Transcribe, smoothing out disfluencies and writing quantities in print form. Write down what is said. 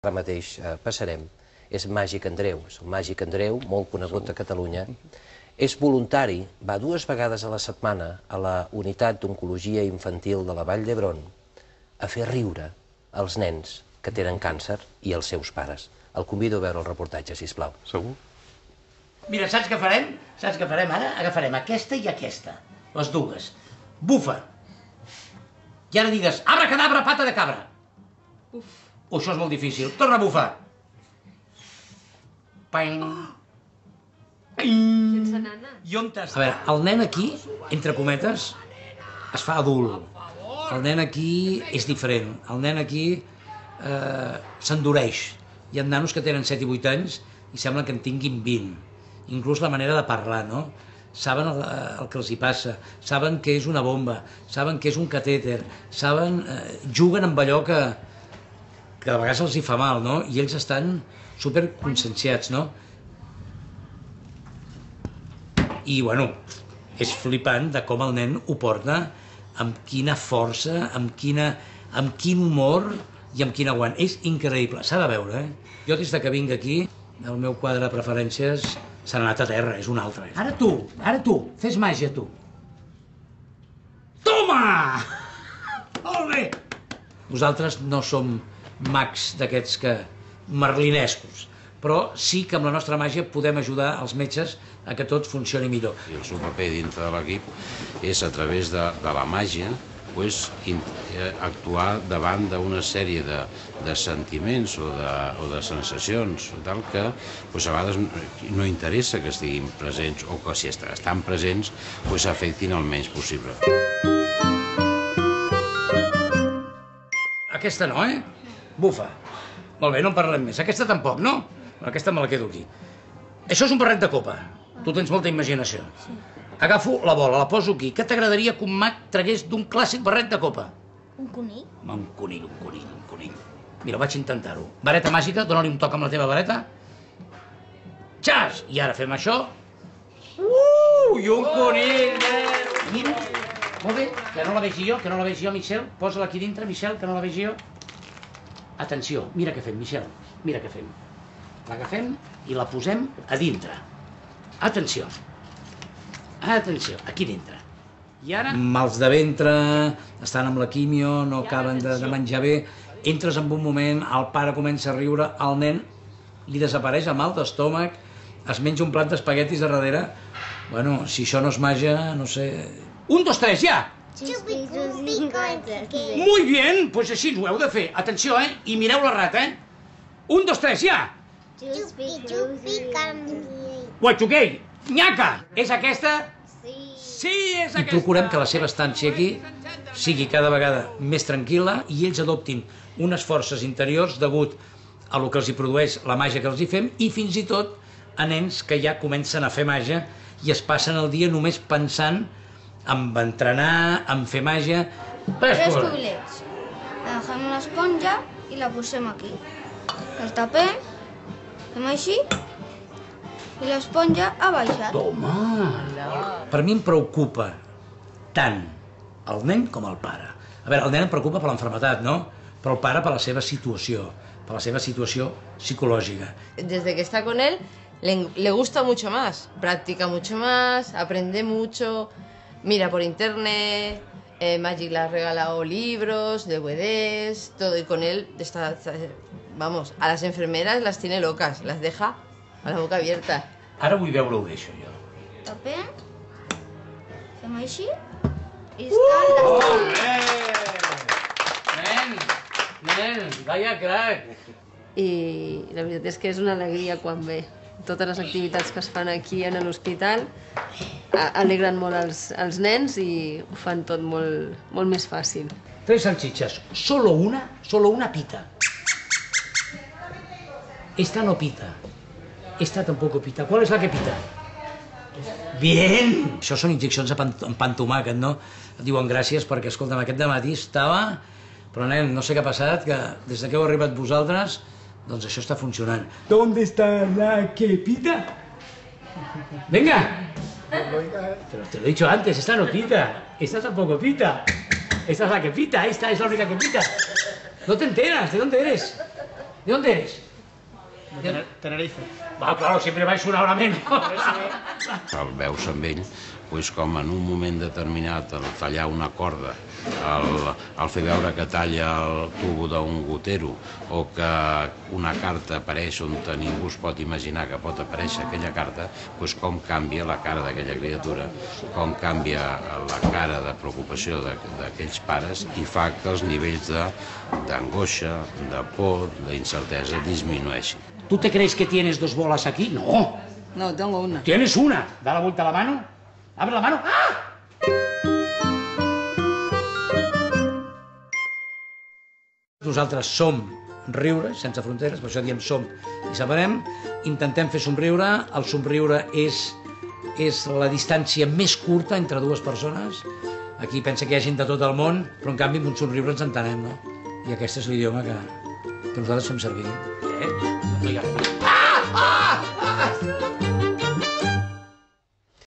ara mateix passarem, és Màgic Andreu. És el Màgic Andreu, molt conegut a Catalunya. És voluntari, va 2 vegades a la setmana a la unitat d'oncologia infantil de la Vall d'Hebron a fer riure els nens que tenen càncer i els seus pares. El convido a veure el reportatge, sisplau. Segur? Mira, saps què farem? Saps què farem ara? Agafarem aquesta i aquesta, les dues. Bufa! I ara digues, abracadabra, pata de cabra. Uf. Això és molt difícil. Torna a bufar. Ping. Sense nana. I on estàs? A veure, el nen aquí, entre cometes, es fa adult. El nen aquí és diferent. El nen aquí s'endureix. Hi ha nanos que tenen 7 i 8 anys i sembla que en tinguin 20. Inclús la manera de parlar, no? Saben el que els hi passa, saben que és una bomba, saben que és un catèter, saben, juguen amb allò que de vegades els hi fa mal, no? I ells estan superconscienciats, no? I, bueno, és flipant de com el nen ho porta, amb quina força, amb quin humor i amb quin aguant. És increïble, s'ha de veure, eh? Jo des que vinc aquí, el meu quadre de preferències s'ha anat a terra, és un altre. Ara tu, fes màgia, tu. Toma! Molt bé! Nosaltres no som mags d'aquests que merlinescos, però sí que amb la nostra màgia podem ajudar els metges a que tot funcioni millor. El seu paper dintre de l'equip és, a través de la màgia, actuar davant d'una sèrie de sentiments o de sensacions tal que a vegades no interessa que estiguin presents o que si estan presents afectin el menys possible. Aquesta no, eh? Bufa. Molt bé, no en parlem més. Aquesta tampoc, no? Aquesta me la quedo aquí. Això és un barret de copa. Tu tens molta imaginació. Agafo la bola, la poso aquí. Què t'agradaria que un mag tragués d'un clàssic barret de copa? Un conill? Un conill. Mira, vaig intentar-ho. Vareta màgica, dóna-li un toc amb la teva vareta. Xas! I ara fem això. I un conill! Mira, molt bé, que no la vegi jo, Michel. Posa-la aquí dintre, Michel, que no la vegi jo. Atenció, mira què fem, Michel, mira què fem. L'agafem i la posem a dintre. Atenció, aquí dintre. I ara... Mals de ventre, estan amb la quimio, no acaben de menjar bé, entres en un moment, el pare comença a riure, el nen li desapareix el mal d'estómac, es menja un plat d'espaguetis de darrere. Bueno, si això no és màgia, no sé... 1, 2, 3, ja! Muy bien, pues així ho heu de fer. Atenció, eh? I mireu la rata, eh? 1, 2, 3, ja! Guatxuquei, nyaca! És aquesta? Sí, és aquesta! I procurem que la seva estància aquí sigui cada vegada més tranquil·la i ells adoptin unes forces interiors degut a lo que els hi produeix la màgia que els hi fem i fins i tot a nens que ja comencen a fer màgia i es passen el dia només pensant en entrenar, en fer màgia... Tres cubilets. Agafem una esponja i la posem aquí. El tapem, fem així, i l'esponja ha baixat. Toma! Per mi em preocupa tant el nen com el pare. A veure, el nen em preocupa per l'enfermetat, no? Però el pare per la seva situació psicològica. Desde que está con él, le gusta mucho más, practica mucho más, aprende mucho... Mira por internet, Magic le ha regalado libros, DVDs, todo, y con él está, vamos, a las enfermeras las tiene locas, las deja a la boca abierta. Ara vull veure-ho bé, això, jo. Tapem, fem així, i està... Nen, vaya crac! I la veritat és que és una alegria quan ve. Totes les activitats que es fan aquí en l'hospital alegren molt els nens i ho fan tot molt més fàcil. 3 salchichas, solo una pita. Esta no pita, esta tampoco pita. ¿Cuál es la que pita? Bien! Això són injeccions amb pa amb tomàquet, no? Et diuen gràcies perquè, escolta'm, aquest dematí estava... Però, nen, no sé què ha passat, que des que heu arribat vosaltres, doncs això està funcionant. ¿Dónde está la que pita? Venga! Pero te lo he dicho antes, esta no pita, esta tampoco pita. Esta es la que pita, esta es la única que pita. No te enteras, ¿de dónde eres? ¿De dónde eres? De Tenerife. Va, claro, siempre vais una hora menos. El veus amb ell com en un moment determinat el tallar una corda, el fer veure que talla el tubo d'un gotero o que una carta apareix on ningú es pot imaginar que pot aparèixer aquella carta, com canvia la cara d'aquella criatura, com canvia la cara de preocupació d'aquells pares i fa que els nivells d'angoixa, de por, d'incertesa disminueixin. ¿Tú te crees que tienes dos bolas aquí? No. No, tengo una. ¿Tienes una? Da la vuelta a la mano. Abre la mano. ¡Ah! Nosaltres som Riure, sense fronteres, per això diem som i separem. Intentem fer somriure. El somriure és la distància més curta entre dues persones. Aquí pensa que hi ha gent de tot el món, però en canvi amb un somriure ens entenem, no? I aquest és l'idioma que nosaltres fem servir.